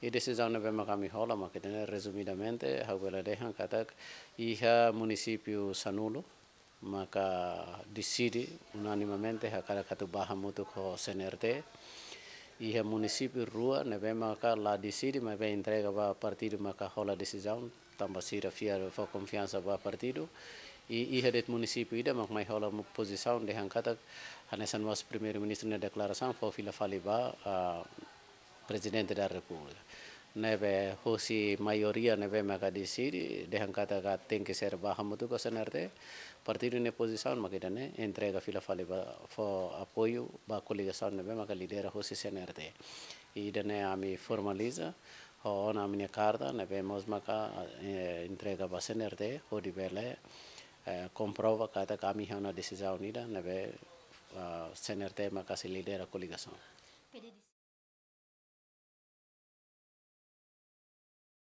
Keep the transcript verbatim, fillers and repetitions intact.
I desizaun ne'ebé maka ami hola, maka ida-ne'e rezumidamente ha'u bele dehan katak iha munisípiu sanulu maka deside unanimamente hakarak atu bá hamutuk ho C N R T. Iha munisípiu rua ne'ebé maka la deside, maibé entrega ba partidu maka hola desizaun, tanba sira fiar fó konfiansa ba partidu. I iha de'it munisípiu ida mak mai hola mu-, pozisaun dehan katak hanesan mós Primeiru-Ministru nia deklarasaun fó fila fali ba, ah, Prezidente da Repúblika. Ne'ebé hosi maioria ne'ebé maka deside dehan katak tenke ser bá hamutuk ho C N R T, partidu nia pozisaun mak ida-ne'e, entrega fila fali ba, fó apoiu ba koligasaun ne'ebé maka lidera hosi C N R T. I ida-ne'e ami formaliza ho ona ami-nia karta ne'ebé mós maka, eh, entrega ba C N R T hodi bele, eh, komprova katak ami iha ona desizaun ida ne'ebé, ah, C N R T maka sei lidera koligasaun.